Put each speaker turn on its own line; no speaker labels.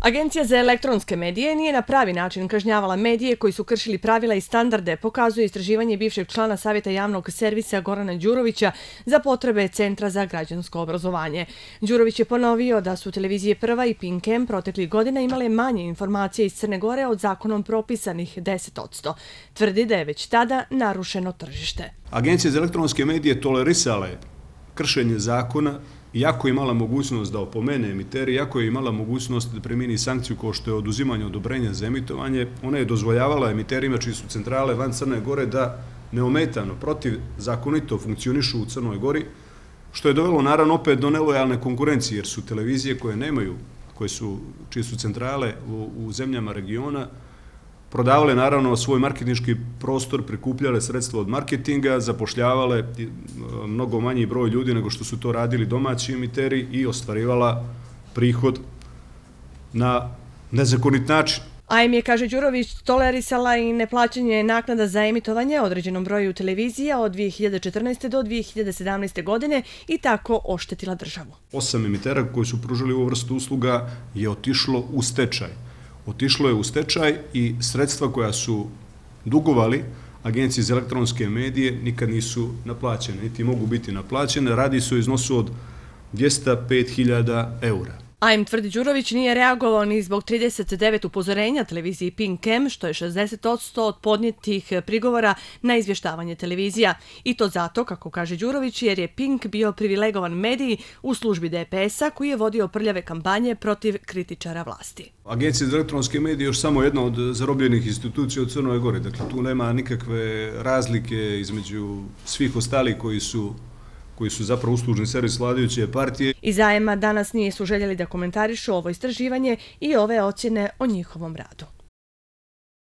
Agencija za elektronske medije nije na pravi način kažnjavala medije koji su kršili pravila i standarde, pokazuje istraživanje bivšeg člana Savjeta javnog servisa Gorana Đurovića za potrebe Centra za građansko obrazovanje. Đurović je ponovio da su televizije Prva i Pink M proteklih godina imale manje informacije iz Crne Gore od zakonom propisanih 10%. Tvrdi da je već tada narušeno tržište.
Agencija za elektronske medije tolerisala je kršenje zakona, iako je imala mogućnost da opomene emiteri, iako je imala mogućnost da primjeni sankciju kao što je oduzimanje odobrenja za emitovanje, ona je dozvoljavala emiterima čiji su centrale van Crne Gore da neometano, protivzakonito funkcionišu u Crnoj Gori, što je dovelo naravno opet do nelojalne konkurencije, jer su televizije koje nemaju, čije su centrale u zemljama regiona, prodavale naravno svoj marketinški prostor, prikupljale sredstva od marketinga, zapošljavale mnogo manji broj ljudi nego što su to radili domaći emiteri i ostvarivala prihod na nezakonit način.
AIM je, kaže Đurović, tolerisala i neplaćanje naknada za emitovanje određenom broju televizija od 2014. do 2017. godine i tako oštetila državu.
8 emitera koji su pružili ovu vrstu usluga je otišlo u stečaj. Otišlo je u stečaj i sredstva koja su dugovali Agenciji za elektronske medije nikad nisu naplaćene, niti mogu biti naplaćene. Radi se o iznosu od 205.000 eura.
AIM, tvrdi Đurović, nije reagovao ni zbog 39 upozorenja televiziji Pink M, što je 60% od podnijetih prigovora na izvještavanje televizija. I to zato, kako kaže Đurović, jer je Pink bio privilegovan medij u službi DPS-a koji je vodio prljave kampanje protiv kritičara vlasti.
Agencija za elektronske medije je još samo jedna od zarobljenih institucija u Crnoj Gori. Dakle, tu nema nikakve razlike između svih ostalih koji su zapravo uslužni servis vladajuće partije.
Iz AIM-a danas nisu željeli da komentarišu ovo istraživanje i ove ocjene o njihovom radu.